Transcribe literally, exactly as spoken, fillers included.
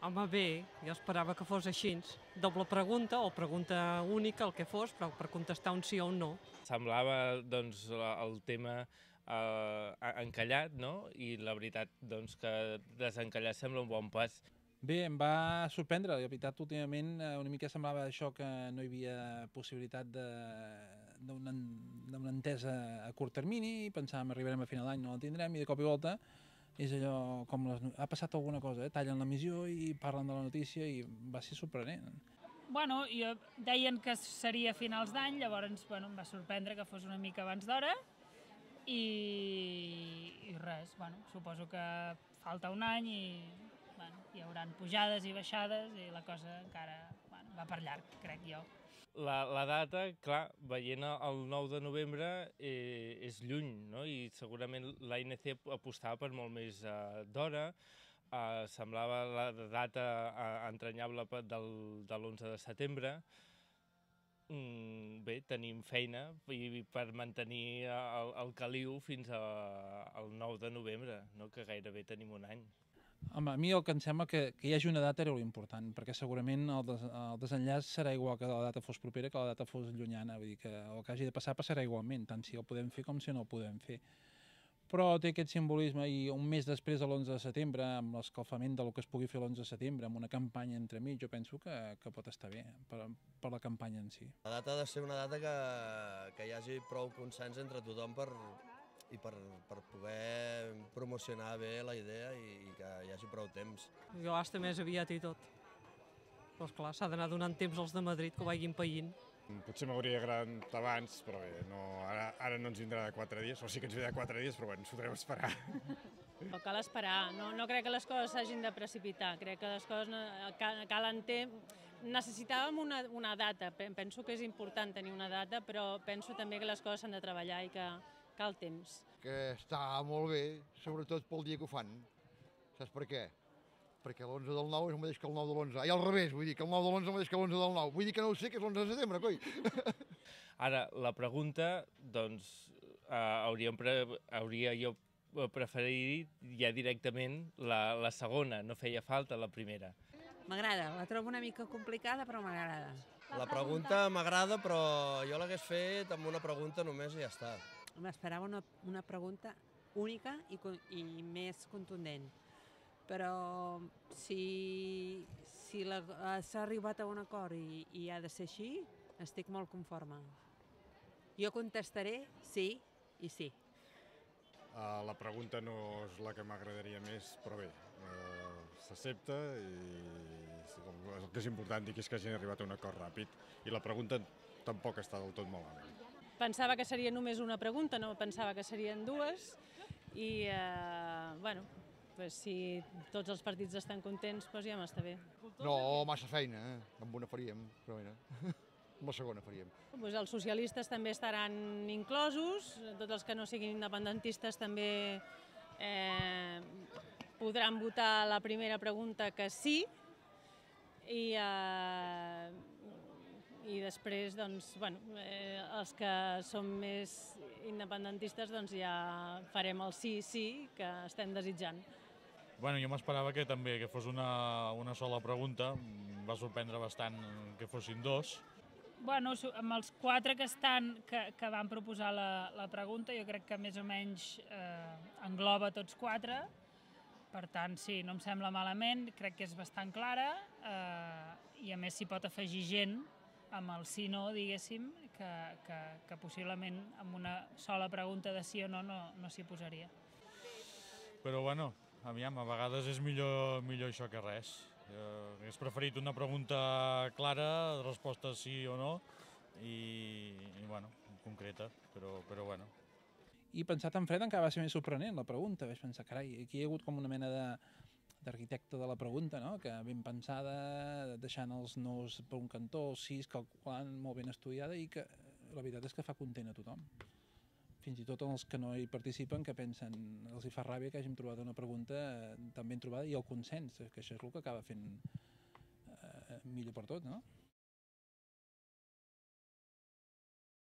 Home, bé, jo esperava que fos així. Doble pregunta o pregunta única, el que fos, però per contestar un sí o un no. Semblava doncs, el tema eh, encallat, no? I la veritat doncs, que desencallar sembla un bon pas. Bé, em va sorprendre, la veritat, últimament una mica semblava això que no hi havia possibilitat d'una entesa a curt termini, i pensàvem arribarem a final d'any, no la tindrem, i de cop i volta és allò com les, ha passat alguna cosa, eh? Tallen l'emissió i parlen de la notícia i va ser sorprenent. Bueno, jo, deien que seria a finals d'any, llavors bueno, em va sorprendre que fos una mica abans d'hora i, i res, bueno, suposo que falta un any i bueno, hi haurà pujades i baixades i la cosa encara bueno, va per llarg, crec jo. La, la data, clar, veient el nou de novembre eh, és lluny, no? I segurament l'A N C apostava per molt més eh, d'hora. Eh, semblava la data eh, entranyable del, de l'onze de setembre. Mm, bé, tenim feina i per mantenir el, el caliu fins a, al nou de novembre, no? Que gairebé tenim un any. Home, a mi el que em sembla que, que hi hagi una data era important, perquè segurament el, des, el desenllaç serà igual que la data fos propera que la data fos llunyana, vull dir que el que hagi de passar passarà igualment, tant si el podem fer com si no el podem fer. Però té aquest simbolisme i un mes després de l'onze de setembre, amb l'escalfament del que es pugui fer l'onze de setembre, amb una campanya entremig, jo penso que, que pot estar bé per, per la campanya en si. La data ha de ser una data que, que hi hagi prou consens entre tothom per, i per, per poder promocionar bé la idea i, i que hi hagi prou temps. Jo hasta més aviat i tot. Però esclar, s'ha d'anar donant temps als de Madrid que ho vagin païnt. Potser m'hauria agradat abans, però bé, no, ara, ara no ens vindrà de quatre dies, o sí que ens ve de quatre dies, però bé, ens podrem esperar. No cal esperar, no, no crec que les coses s'hagin de precipitar, crec que les coses calen temps. Necessitàvem una, una data, penso que és important tenir una data, però penso també que les coses s'han de treballar i que cal temps. Que està molt bé, sobretot pel dia que ho fan. Saps per què? Perquè l'onze del nou és el mateix que el nou de l'onze. I al revés, vull dir que el nou de l'onze és el mateix que l'onze del nou. Vull dir que no ho sé, que és l'onze de setembre, coi. Ara, la pregunta, doncs, eh, hauríem pre hauria jo preferit ja directament la, la segona, no feia falta la primera. M'agrada, la trobo una mica complicada, però m'agrada. La pregunta m'agrada, però jo l'hagués fet amb una pregunta només i ja està. M'esperava una, una pregunta única i, i més contundent. Però si, si s'ha arribat a un acord i, i ha de ser així, estic molt conforme. Jo contestaré sí i sí. Uh, la pregunta no és la que m'agradaria més, però bé, uh, s'accepta i el que és important és que hagin arribat a un acord ràpid i la pregunta tampoc està del tot malament. Pensava que seria només una pregunta, no pensava que serien dues i, eh, bueno, pues si tots els partits estan contents, doncs ja m'està bé. No, massa feina, eh? Amb una faríem, però bé, amb la segona faríem. Pues els socialistes també estaran inclosos, tots els que no siguin independentistes també eh, podran votar la primera pregunta que sí i, eh, i després doncs, bueno, eh, els que som més independentistes doncs ja farem el sí, sí que estem desitjant. Bueno, jo m'esperava que també que fos una, una sola pregunta, em va sorprendre bastant que fossin dos. Bueno, amb els quatre que estan, que, que van proposar la, la pregunta, jo crec que més o menys eh, engloba tots quatre, per tant, sí, no em sembla malament, crec que és bastant clara eh, i a més s'hi pot afegir gent amb el sí-no, diguéssim, que, que, que possiblement amb una sola pregunta de sí o no no, no s'hi posaria. Però bueno, aviam, a vegades és millor, millor això que res. Jo hagués preferit una pregunta clara, resposta sí o no, i, i bueno, concreta, però, però bueno. I pensat en fred encara va ser més sorprenent la pregunta, vaig pensar, carai, aquí hi ha hagut com una mena de d'arquitecte de la pregunta, no? Que ben pensada, deixant els nos per un cantó, els sis, calculant, molt ben estudiada i que la veritat és que fa content a tothom. Fins i tot els que no hi participen, que pensen, els hi fa ràbia que hàgim trobat una pregunta tan ben trobada i el consens, que això és el que acaba fent eh, millor per tot, no?